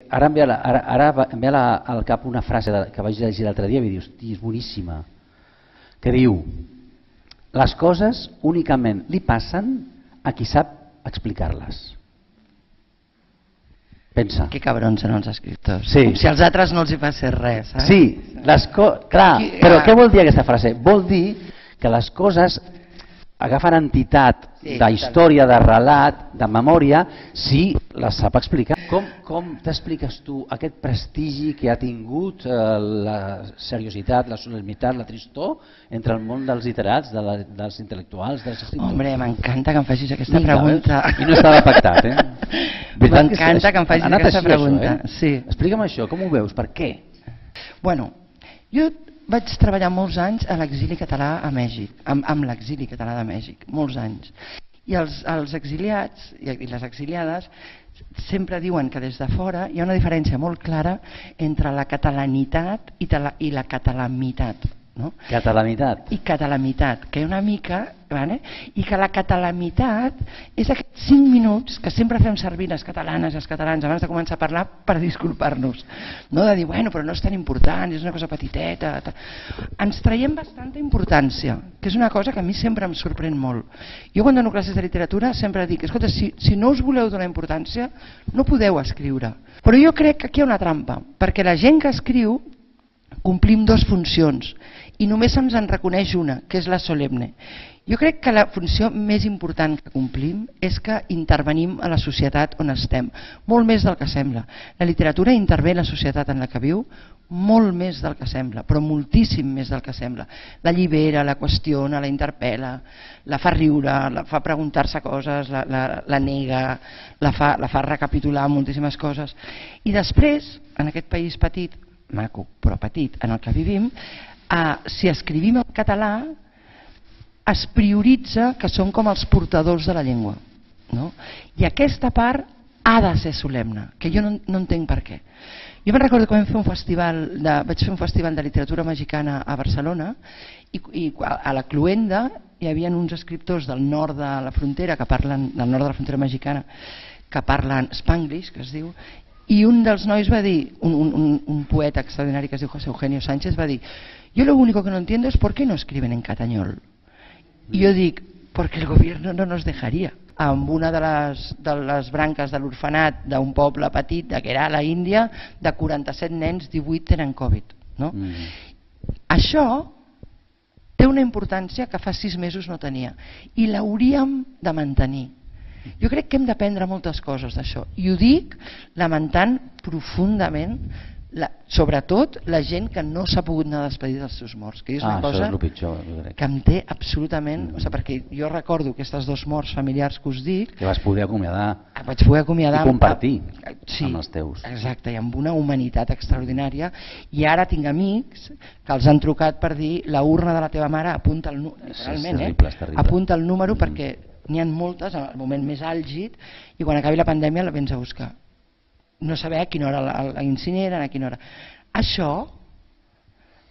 ara em ve al cap una frase que vaig llegir l'altre dia i dius, hosti, és boníssima, que diu, les coses únicament li passen a qui sap explicar-les. Pensa. Que cabrons són els escriptors. Sí. Com si als altres no els hi passés res. Sí, clar, però què vol dir aquesta frase? Vol dir que les coses agafen entitat d'història, de relat, de memòria, si les sap explicar. Com t'expliques tu aquest prestigi que ha tingut la seriositat, la solemnitat, la tristor entre el món dels literats, dels intel·lectuals, dels escriptors? Hombre, m'encanta que em facis aquesta pregunta. I no estava pactat, M'encanta que em facis aquesta pregunta. Explica'm això, com ho veus, per què? Bueno, jo vaig treballar molts anys a l'exili català a Mèxic, amb l'exili català de Mèxic, molts anys. I els exiliats i les exiliades sempre diuen que des de fora hi ha una diferència molt clara entre la catalanitat i la catalamitat. No? Catalanitat. I catalamitat, que una mica, i que la catalamitat és aquests 5 minuts que sempre fem servir les catalanes i els catalans abans de començar a parlar per disculpar-nos, no? De dir, bueno, però no és tan important, és una cosa petiteta. Ens traiem bastanta importància, que és una cosa que a mi sempre em sorprèn molt. Jo quan dono classes de literatura sempre dic, escolta, si no us voleu donar importància, no podeu escriure. Però jo crec que aquí hi ha una trampa, perquè la gent que escriu complim 2 funcions i només se'ns en reconeix una, que és la solemne. Jo crec que la funció més important que complim és que intervenim a la societat on estem, molt més del que sembla. La literatura intervé en la societat en la que viu molt més del que sembla, però moltíssim més del que sembla. L'allibera, la qüestiona, la interpel·la, la fa riure, la fa preguntar-se coses, la nega, la fa recapitular moltíssimes coses. I després, en aquest país petit, maco, però petit, en el que vivim, si escrivim en català es prioritza que són com els portadors de la llengua, no? I aquesta part ha de ser solemne, que jo no entenc per què. Jo me'n recordo que vaig fer un festival de literatura mexicana a Barcelona i a la Cluenda hi havia uns escriptors del nord de la frontera, del nord de la frontera mexicana, que parlen spanglish, que es diu, i un dels nois va dir, un poeta extraordinari que es diu José Eugenio Sánchez, va dir, yo lo único que no entiendo es por qué no escriben en catañol. I jo dic, porque el gobierno no nos dejaría. Amb una de les branques de l'orfenat d'un poble petit, que era a la Índia, de 47 nens, 18 tenen Covid. Això té una importància que fa 6 mesos no tenia i l'hauríem de mantenir. Jo crec que hem d'aprendre moltes coses d'això i ho dic lamentant profundament sobretot la gent que no s'ha pogut anar a despedir dels seus morts, que és una cosa que em té absolutament, perquè jo recordo aquestes 2 morts familiars que us dic, que vas poder acomiadar i compartir amb els teus. Exacte, i amb una humanitat extraordinària, i ara tinc amics que els han trucat per dir la urna de la teva mare apunta el número, apunta el número perquè n'hi ha moltes en el moment més àlgid i quan acabi la pandèmia la vens a buscar. No saber a quina hora la incineren, a quina hora. Això,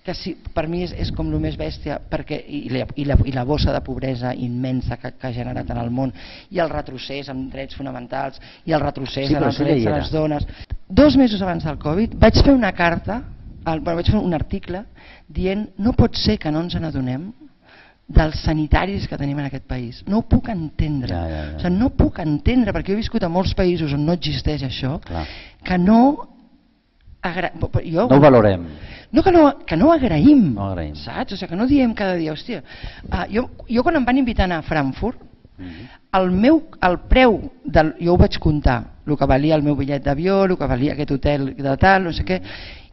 que per mi és com el més bèstia, i la bossa de pobresa immensa que ha generat en el món, i el retrocés en drets fonamentals, i el retrocés en els drets de les dones. 2 mesos abans del Covid vaig fer una carta, vaig fer un article dient no pot ser que no ens n'adonem dels sanitaris que tenim en aquest país. No ho puc entendre. No ho puc entendre, perquè jo he viscut a molts països on no existeix això, que no ho valorem. Que no agraïm, saps? Que no diem cada dia, hòstia. Jo quan em van invitar a anar a Frankfurt, el preu, jo ho vaig comptar, el que valia el meu bitllet d'avió, el que valia aquest hotel de tal, no sé què,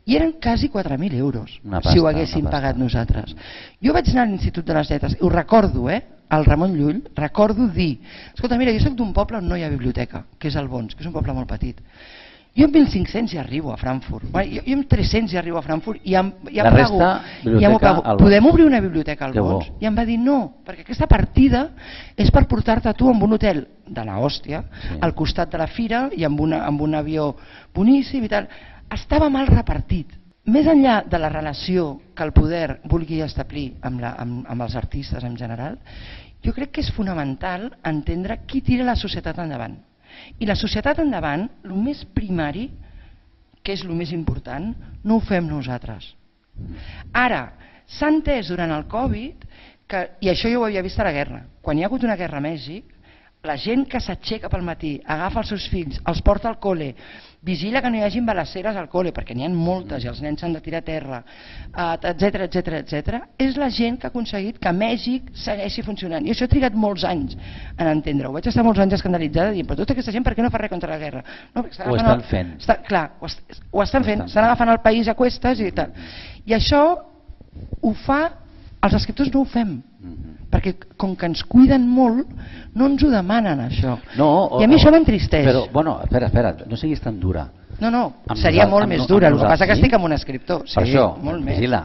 i eren quasi 4.000 euros si ho haguéssim pagat nosaltres. Jo vaig anar a l'Institut de les Lletres, ho recordo, al Ramon Llull, recordo dir, escolta, mira, jo soc d'un poble on no hi ha biblioteca, que és el Bons, que és un poble molt petit. Jo amb 1.500 ja arribo a Frankfurt, jo amb 300 ja arribo a Frankfurt i ja m'ho pago. Podem obrir una biblioteca al Bons? I em va dir no, perquè aquesta partida és per portar-te tu amb un hotel de la hòstia, al costat de la fira i amb un avió boníssim i tal. Estava mal repartit. Més enllà de la relació que el poder vulgui establir amb els artistes en general, jo crec que és fonamental entendre qui tira la societat endavant. I la societat endavant, el més primari, que és el més important, no ho fem nosaltres. Ara, s'ha entès durant el Covid, i això jo ho havia vist a la guerra, quan hi ha hagut una guerra a Mèxic, la gent que s'aixeca pel matí, agafa els seus fills, els porta al col·le, vigila que no hi hagi balasseres al col·le, perquè n'hi ha moltes i els nens s'han de tirar a terra, etc. És la gent que ha aconseguit que Mèxic segueixi funcionant. I això ha trigat molts anys en entendre-ho. Vaig estar molts anys escandalitzada dient, però tota aquesta gent per què no fa res contra la guerra? No, ho estan fent. Clar, ho estan fent, estan agafant el país a cuestes i tal. I això ho fa, els escriptors no ho fem, perquè com que ens cuiden molt no ens ho demanen això, i a mi això m'entristeix. Però, bueno, espera, no siguis tan dura. No, seria molt més dura, el que passa que estic amb un escriptor. Per això, vigila.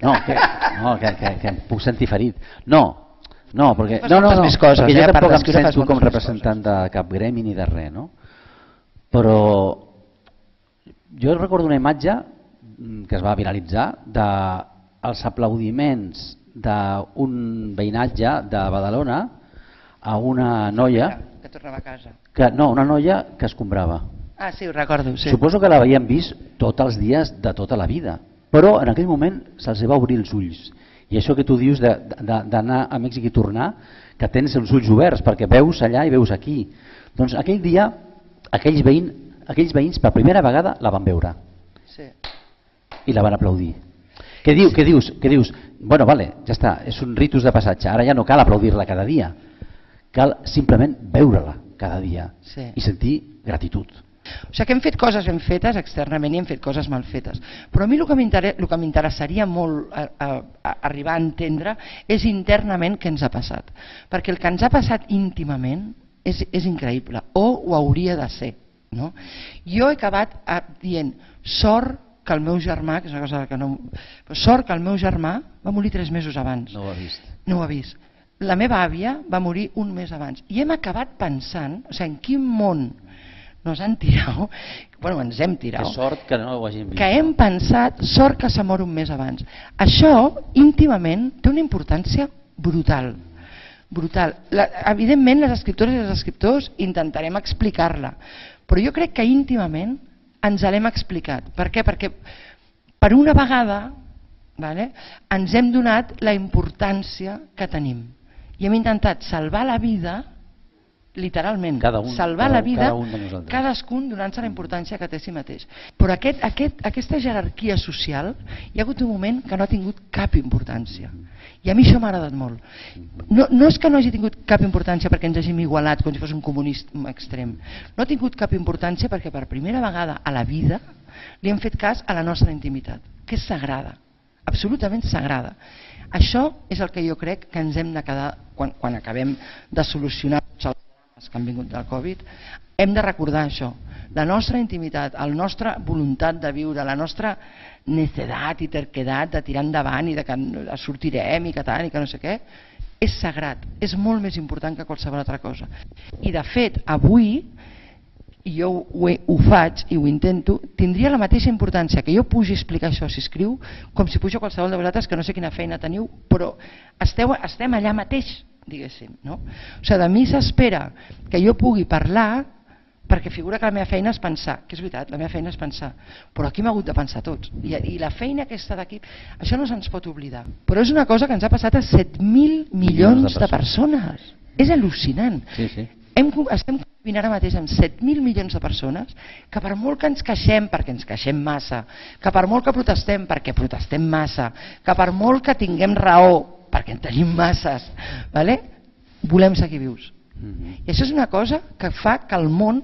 No, que em puc sentir ferit. No, perquè jo tampoc em sento com representant de cap gremi ni de res, no? Però jo recordo una imatge que es va viralitzar dels aplaudiments d'un veïnatge de Badalona a una noia que tornava a casa. Una noia que escombrava. Ah, sí, ho recordo. Sí. Suposo que l'havíem vist tots els dies de tota la vida, però en aquell moment se'ls va obrir els ulls. I això que tu dius d'anar a Mèxic i tornar, que tens els ulls oberts perquè veus allà i veus aquí. Doncs aquell dia aquells veïns per primera vegada la van veure. Sí. I la van aplaudir. Què dius? Bueno, vale, ja està, és un ritus de passatge, ara ja no cal aplaudir-la cada dia, cal simplement veure-la cada dia i sentir gratitud. O sigui que hem fet coses ben fetes externament i hem fet coses mal fetes, però a mi el que m'interessaria molt arribar a entendre és internament què ens ha passat, perquè el que ens ha passat íntimament és increïble, o ho hauria de ser, no? Jo he acabat dient sort que el meu germà, que és una cosa que no... Sort que el meu germà va morir 3 mesos abans. No ho ha vist. No ho ha vist. La meva àvia va morir un mes abans. I hem acabat pensant, o sigui, en quin món nos han tirat, bueno, ens hem tirat. Que sort que no ho hagin vist. Que hem pensat, sort que se mor un mes abans. Això, íntimament, té una importància brutal. Brutal. Evidentment, les escriptores i els escriptors intentarem explicar-la, però jo crec que íntimament ens l'hem explicat. Per què? Perquè per una vegada ens hem donat la importància que tenim i hem intentat salvar la vida, literalment, salvar la vida, cadascun donant-se la importància que té a si mateix. Però aquesta jerarquia social, hi ha hagut un moment que no ha tingut cap importància. I a mi això m'ha agradat molt. No és que no hagi tingut cap importància perquè ens hàgim igualat com si fos un comunisme extrem. No ha tingut cap importància perquè per primera vegada a la vida li hem fet cas a la nostra intimitat, que és sagrada, absolutament sagrada. Això és el que jo crec que ens hem de quedar quan acabem de solucionar els problemes que han vingut del Covid. Hem de recordar això, la nostra intimitat, la nostra voluntat de viure, la nostra necedat i terquedat de tirar endavant i de que sortirem i que tant i que no sé què, és sagrat, és molt més important que qualsevol altra cosa. I de fet, avui, i jo ho faig i ho intento, tindria la mateixa importància que jo pugi a explicar això si escriu, com si pujo a qualsevol de vosaltres que no sé quina feina teniu, però estem allà mateix, diguéssim. O sigui, de mi s'espera que jo pugui parlar perquè figura que la meva feina és pensar, que és veritat, la meva feina és pensar, però aquí hem hagut de pensar tots, i la feina aquesta d'aquí, això no se'ns pot oblidar, però és una cosa que ens ha passat a 7.000 milions de persones, és al·lucinant. Estem convivint ara mateix amb 7.000 milions de persones que per molt que ens queixem perquè ens queixem massa, que per molt que protestem perquè protestem massa, que per molt que tinguem raó perquè en tenim masses, volem seguir vius. I això és una cosa que fa que el món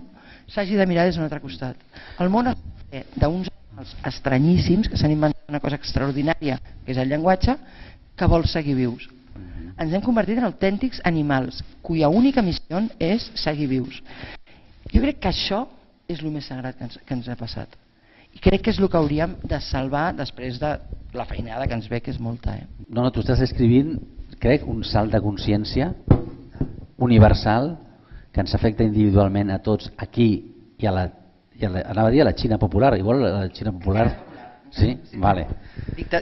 s'hagi de mirar des d'un altre costat. El món d'uns animals estranyíssims que s'han inventat una cosa extraordinària, que és el llenguatge, que vol seguir vius. Ens hem convertit en autèntics animals, cuya única missió és seguir vius. Jo crec que això és el més sagrat que ens ha passat. I crec que és el que hauríem de salvar després de la feinada que ens ve, que és molta. No, tu estàs escrivint, crec, un salt de consciència universal que ens afecta individualment a tots aquí i anava a dir a la Xina popular, igual la Xina popular Sí, vale.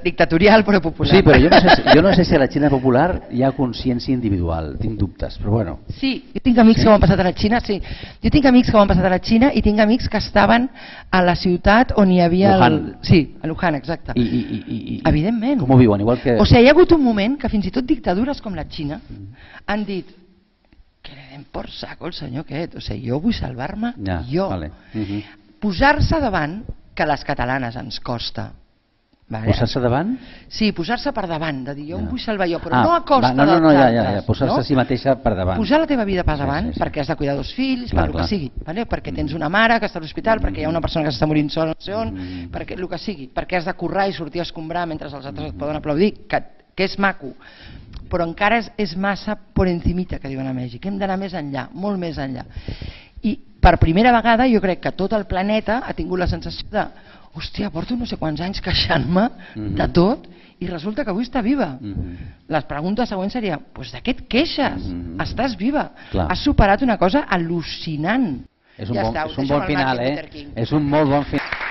Dictatorial però popular. Sí, però jo no sé si a la Xina popular hi ha consciència individual, tinc dubtes, però bueno. Sí, jo tinc amics que ho han passat a la Xina, sí. Jo tinc amics que ho han passat a la Xina i tinc amics que estaven a la ciutat on hi havia... Wuhan. Sí, a Wuhan, exacte. Evidentment. Com ho viuen? Igual que... O sigui, hi ha hagut un moment que fins i tot dictadures com la Xina han dit que le den por saco el senyor aquest, o sigui, jo vull salvar-me jo. Vale. Posar-se davant, que a les catalanes ens costa. Vale. Posar-se davant? Sí, posar-se per davant, de dir jo em vull salvar jo, però no a costa dels altres. Ja, posar-se a si mateixa per davant. Posar la teva vida per davant, perquè has de cuidar dos fills, per el que sigui, perquè tens una mare que està a l'hospital, perquè hi ha una persona que s'està morint sola, no sé on, perquè el que sigui, perquè has de currar i sortir a escombrar mentre els altres et poden aplaudir, que és maco, però encara és massa por encimita, que diuen a Mèxic. Hem d'anar més enllà, molt més enllà. I per primera vegada jo crec que tot el planeta ha tingut la sensació de hòstia, porto no sé quants anys queixant-me de tot i resulta que avui està viva. La pregunta següent seria, doncs de què et queixes? Estàs viva. Has superat una cosa al·lucinant. És un bon final, eh? És un molt bon final.